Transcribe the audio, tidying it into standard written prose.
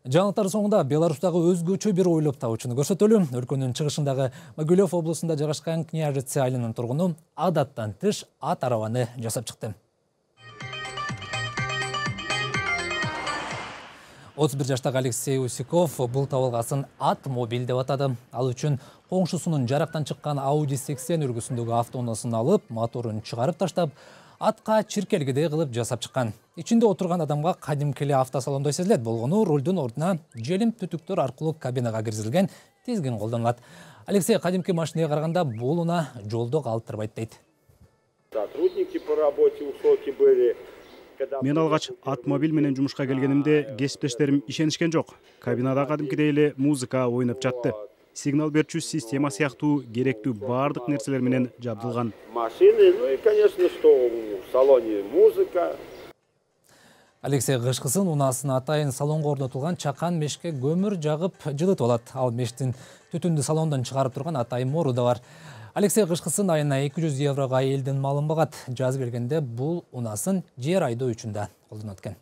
Жаңылыктар соңында Беларустагы өзгөчө бир ойлоп табуучуну көрсөтөлү. Өлкөнүн чыгышындагы Могилев облусунда жайгашкан Княжицы айылынын тургуну адаттан тыш ат арабаны жасап чыкты. 31 жаштагы Алексей Усиков бул табылгасын ат мобиль деп атады. Ал үчүн коңшусунун жарактан чыккан Audi 80 үргүсүндөгү автоунасын алып, моторун чыгарып таштап, атка чиркелгидей кылып жасап чыккан. Ичинде отурган адамга кадимки эле автосалондой сезилет. Болгону рулдун ордуна желим түтүктөр аркылуу кабинага киргизилген тизгин колдонулат. Алексей кадимки машинага караганда бул унаа жолдо калтырбайт дейт. Сотрудники по работе высокие были. Мен алгач ат мобиль менен жумушка келгенимде кесиптештерим ишенишкен жок. Кабинада кадимкидей эле музыка ойноп жатты. Сигнал берчү система сыяктуу керектүү баардык нерселер менен жабдылган. Машины, ну и, конечно, что в салоне музыка. Алексей кышкысын унаасына атайын салонго орнотулган чакан мешке көмүр жагып жылытып алат. Ал мештин түтүндү салондон чыгарып турган атайын мору да бар. Алексей кышкысын айына 200 еврого элдин малын багат. Жаз келгенде бул унаасын жер айдоо үчүн да колдонот экен.